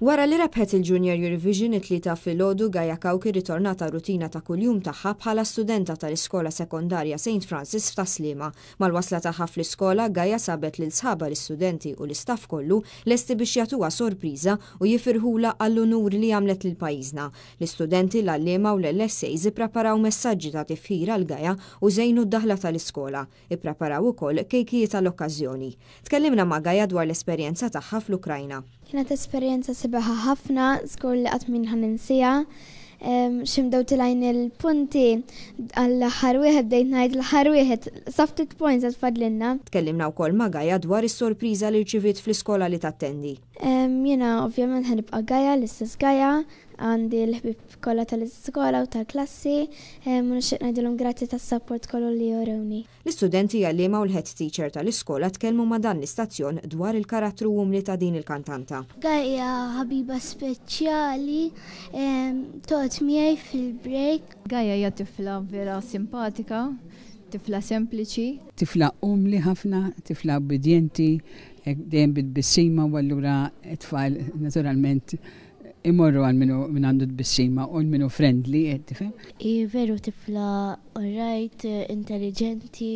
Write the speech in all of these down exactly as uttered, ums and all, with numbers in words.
Wara li rebħet il-Junior Eurovision it-Tlieta filgħodu, Gaia Cauchi ritornat għar-rutina ta' kuljum tagħha bħala studenta tal-Iskola Sekondarja Saint Francis f'Tas-Sliema. Mal-wasla tagħha fl-iskola, Gaia sabet lil sħabha l-istudenti u l-istaff kollu lesti biex jagħtuha sorpriża u jifirħula għall-unur li għamlet lil pajjiżna. L-istudenti, l-għalliema u l-L S As ippreparaw messaġġi ta' tifħir għal Gaia u żejnu d-daħla tal-iskola. Ippreparaw ukoll kejkijiet għall-okkażjoni. Tkellimna ma' Gaia dwar l-esperjenza tagħha fl-Ukrajna. Kienet esperjenza sabiħa ħafna, żgur li qatt m'jien ħa ninsiha. X'ħin bdew telgħin il-punti, għall-aħħar wieħed bdejt ngħid l-aħħar wieħed, sa ftit points għad fadlilna. Tkellimna wkoll ma' Gaia dwar is-sorpriża li rċiviet fl-iskola li tattendi. Jiena ovvjament ħa nibqa' Gaia, l-istess Gaia, għandi l-ħbieb kollha tal-iskola u tal-klassi, u nixtieq ngħidilhom grazzi tas-support kollu li jurewni. L-istudenti, għalliema u l-head teacher tal-iskola tkellmu ma' dan l-istazzjon dwar il-karattru umli ta' din il-kantanta. Gaia ħabiba speċjali, toqgħod miegħi fil-break. Gaia hija tifla vera simpatika, tifla sempliċi. Tifla umli ħafna, tifla obbedjenti, dejjem bit-tbissima u allura t-tfal naturalment imorru għal minnu min għandu tbissima u minnu friendly, tifhem? Hi veru tifla alright, intelligenti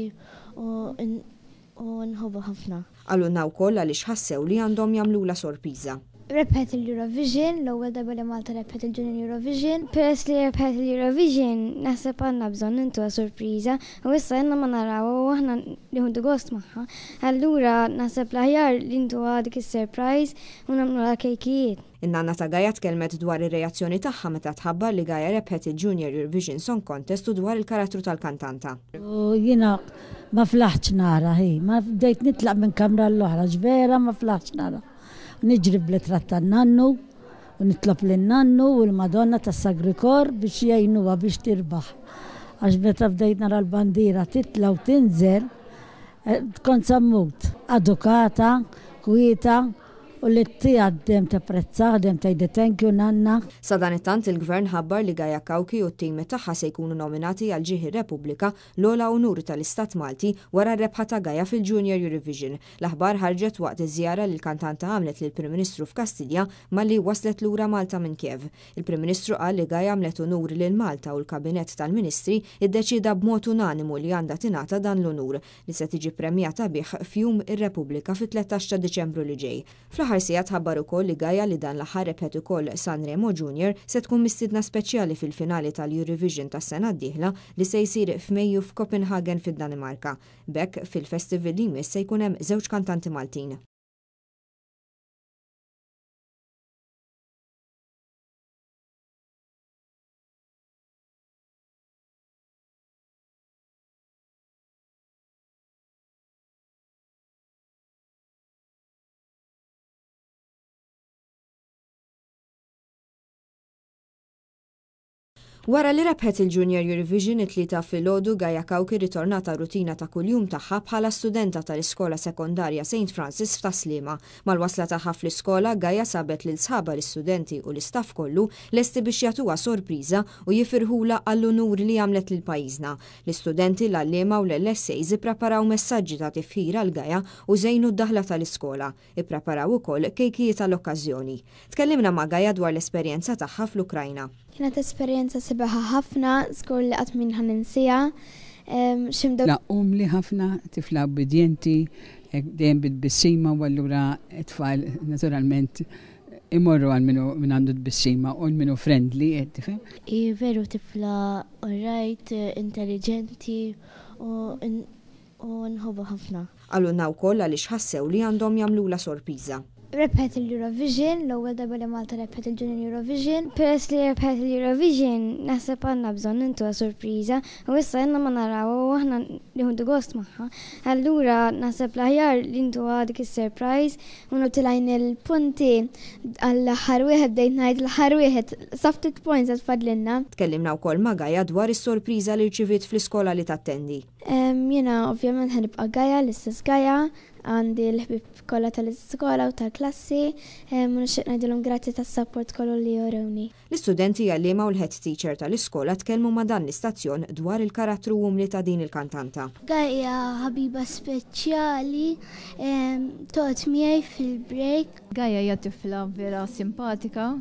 u u nħobbu ħafna. Qalulna wkoll għaliex ħassew li għandhom jagħmlula sorpriża. Rebħet il-Eurovision, l-ewwel darba li Malta rebħet il-Junior Eurovision. Peress li rebħet il-Eurovision, naħseb għandna bżonn intuha sorpriża u issa ilna ma narawha u aħna nieħdu gost magħha. Allura naħseb l-aħjar li ntuha dik is-surprise u nagħmluha kejkijiet. In-nanna ta' Gaia tkellmet dwar ir-reazzjoni tagħha meta tħabbar li Gaia rebħet il-Junior Eurovision Song Contest u dwar il-karattru tal-kantanta. U jiena ma flaħtx nara, hi, ma bdejt nitlaq minn kamra l-oħra, vera ma flaħtx nara. Niġri bl-ritratt tan-nannu u nitlob lin-nannu u l-Madonna tas-Sagri Kor biex jgħinuha biex tirbaħ. Għax meta bdejt nara l-bandira titla u tinżel, eh, kont sa mmut. Edukata, kwieta, u li tija dejjem tapprezzah, dejjem tgħidli "Thank you, nanna." Sadanittant, il-gvern ħabbar li Gaia Cauchi u t-tim tagħha se jkunu nominati għal Ġieħ ir-Repubblika, l-ogħla unur tal-Istat Malti, wara r-rebħa ta' Gaia fil-Junior Eurovision. L-aħbar ħarġet waqt iż-żjara li l-kantanta għamlet lill-Prim Ministru f'Kastilja malli waslet lura Malta minn Kiev. Il-Prim Ministru qal li Gaia għamlet unur lil Malta u l-Kabinett tal-Ministri iddeċida b'mod unanimu li għandha tingħata dan l-unur li se tiġi premjata bih f'Jum ir-Repubblika fit-tlettax ta' Diċembru li ġej. Fl-aħħar sigħat tħabbar ukoll li Gaia, li dan l-aħħar rebħet ukoll Sanremo Junior, se tkun mistiedna speċjali fil-finali tal-Eurovision tas-sena d-dieħla li se jsir f'Mejju f'Copenhagen fid-Danimarka. B'hekk, fil-festival li jmiss se jkun hemm żewġ kantanti Maltin. Wara li rebħet il-Junior Eurovision it-Tlieta filgħodu, Gaia Cauchi ritornat għar-rutina ta' kuljum tagħha bħala studenta tal-Iskola Sekondarja Saint Francis f'Tas-Sliema. Mal-wasla tagħha fl-iskola, Gaia sabet lil sħabha l-istudenti u l-istaff kollu lesti biex jagħtuha sorpriża u jifirħula għall-unur li għamlet lil pajjiżna. L-istudenti, l-għalliema u l-L S As ippreparaw messaġġi ta' tifħir għal Gaia u żejnu d-daħla tal-iskola. Ippreparaw ukoll kejkijiet għall-okkażjoni. Tkellimna ma' Gaia dwar l-esperjenza tagħha fl-Ukrajna. Kienet esperjenza sabiħa ħafna, żgur li qatt m'jien ħa ninsiha. X'ħin bdew Tifla umli ħafna, tifla obbedjenti, dejjem bit-tbissima u allura t-tfal naturalment imorru għal minnu min għandu tbissima u minnu friendly, tifhem? Hi veru tifla alright, intelligenti u u nħobbu ħafna. Qalulna wkoll għaliex ħassew li għandhom jagħmlula sorpriża. Rebħet il-Eurovision, l-ewwel darba li Malta rebħet il-Junior Eurovision. Peress li rebħet il-Eurovision, naħseb għandna bżonn intuha sorpriża u issa ilna ma narawha u aħna nieħdu gost magħha. Allura naħseb l-aħjar li ntuha dik is-surprise u telgħin il-punti, għall-aħħar wieħed bdejt ngħid l-aħħar wieħed, sa ftit points għad fadlilna. Tkellimna wkoll ma' Gaia dwar is-sorpriża li rċiviet fl-iskola li tattendi. Jiena ovvjament ħa nibqa' Gaia, l-istess Gaia, Għandi l-ħbib kollha tal-iskola u tal-klassi, u nixtieq ngħidilhom grazzi tas-support kollu li jurewni. L-istudenti, għalliema u l-head teacher tal-iskola tkellmu ma' dan l-istazzjon dwar il-karattru umli ta' din il-kantanta. Gaia ħabiba speċjali, toqgħod miegħi fil-break. Gaia hija tifla vera simpatika,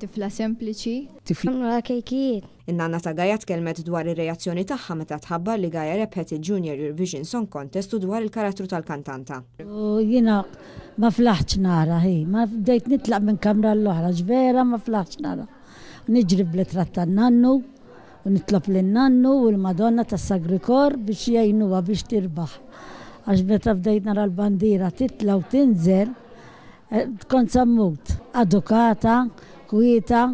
tifla sempliċi. Tifla kejkijiet. In-nanna ta' Gaia tkellmet dwar ir-reazzjoni tagħha meta tħabbar li Gaia rebħet il-Junior Eurovision Song Contest u dwar il-karattru tal-kantanta. U jiena ma flaħtx nara, hi, ma bdejt nitlaq minn kamra l-oħra, vera ma flaħtx nara. Niġri bl-ritratt tan-nannu u nitlob lin-nannu u l-Madonna tas-Sagri Kor biex jgħinuha biex tirbaħ. Għax meta bdejt nara l-bandiera titla u tinżel, eh, kont sa mmut. Edukata, kwieta,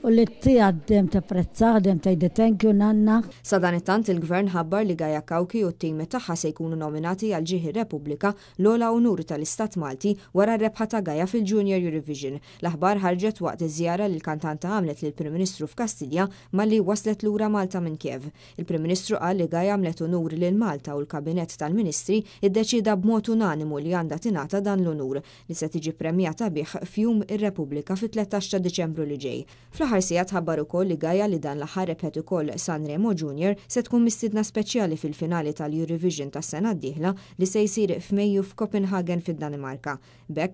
u li t-għaddem tapprezzah, dejjem tgħidli "Thank you, nanna." Sadanittant, il-gvern ħabbar li Gaia Cauchi u t-tim tagħha se jkunu nominati għal ġieħ ir-Repubblika, l-ogħla unur tal-Istat Malti, wara r-rebħa ta' Gaia fil-Junior Eurovision. L-aħbar ħarġet waqt iż-żjara li l-kantanta għamlet lill-Prim Ministru f'Kastilja malli waslet lura Malta minn Kiev. Il-Prim Ministru qal li Gaia għamlet unur lil Malta u l-Kabinett tal-Ministri iddeċida b'mod unanimu li għandha tingħata dan l-unur li se tiġi premjata bih f'Jum ir-Repubblika fit-tlettax ta' Diċembru li ġej. Fl-aħħar sigħat tħabbar ukoll li Gaia, li dan l-aħħar rebħet ukoll Sanremo Junior, se tkun mistiedna speċjali fil-finali tal-Eurovision tas-sena d-dieħla li se jsir f'Mejju f'Copenhagen fid-Danimarka. B'hekk